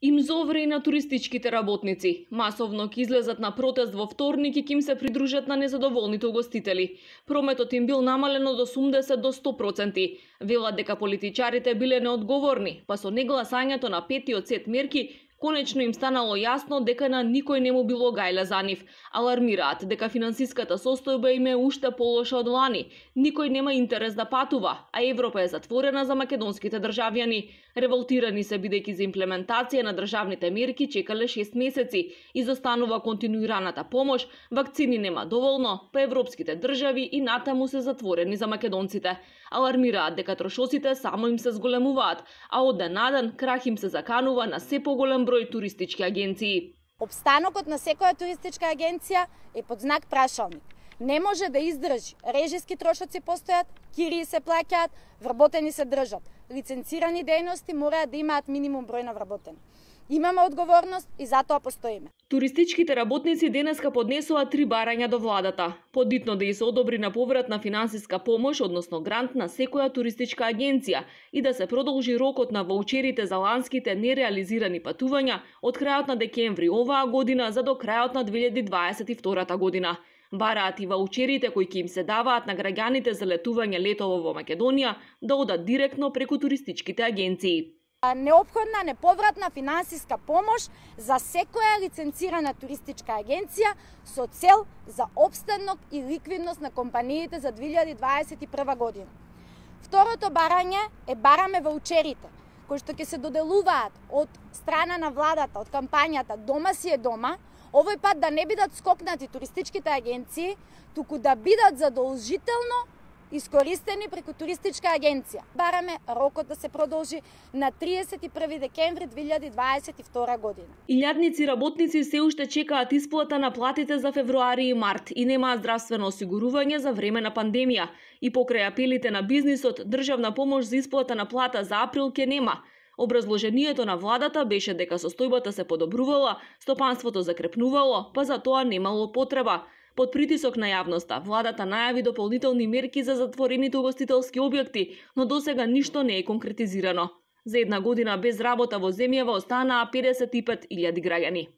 Им зовре и на туристичките работници. Масовно ќе излезат на протест во вторник и ќе им се придружат на незадоволните угостители. Прометот им бил намален од 80 до 100%. Велат дека политичарите биле неодговорни, па со негласањето на петиот сет мерки конечно им станало јасно дека на никој не му било гајле за нив. Алармираат дека финансиската состојба им е уште полоша од лани. Никој нема интерес да патува, а Европа е затворена за македонските државјани. Револтирани се бидејќи за имплементација на државните мерки чекале 6 месеци. Изостанува континуираната помош, вакцини нема доволно, па европските држави и натаму се затворени за македонците. Алармираат дека трошоците само им се зголемуваат, а од ден на ден крах им се заканува на се поголем број туристички агенции. Обстанокот на секоја туристичка агенција е под знак прашалник. Не може да издржи. Режиски трошоци постојат, кирии се плаќаат, вработени се држат. Лиценцирани дејности мораат да имаат минимум број на вработени. Имаме одговорност и затоа постоиме. Туристичките работници денеска поднесуваат 3 барања до владата. Подитно да се одобри на повратна финансиска помош, односно грант на секоја туристичка агенција и да се продолжи рокот на ваучерите за ланските нереализирани патувања од крајот на декември оваа година за до крајот на 2022 година. Бараат и ваучерите кои ќе им се даваат на граѓаните за летување летово во Македонија да одат директно преку туристичките агенции. Неопходна неповратна финансиска помош за секоја лиценцирана туристичка агенција со цел за обстанок и ликвидност на компаниите за 2021 година. Второто барање е бараме ваучерите, кои што ќе се доделуваат од страна на владата, од кампањата Дома си е дома, овој пат да не бидат скокнати туристичките агенции, туку да бидат задолжително искористени преку туристичка агенција. Бараме рокот да се продолжи на 31 декември 2022 година. Илјадници работници се уште чекаат исплата на платите за февруари и март и немаат здравствено осигурување за време на пандемија. И покрај апелите на бизнисот, државна помош за исплата на плата за април ќе нема. Образложението на владата беше дека состојбата се подобрувала, стопанството закрепнувало, па за тоа немало потреба. Под притисок на јавноста, владата најави дополнителни мерки за затворените угостителски објекти, но досега ништо не е конкретизирано. За една година без работа во земјава останаа 55.000 граѓани.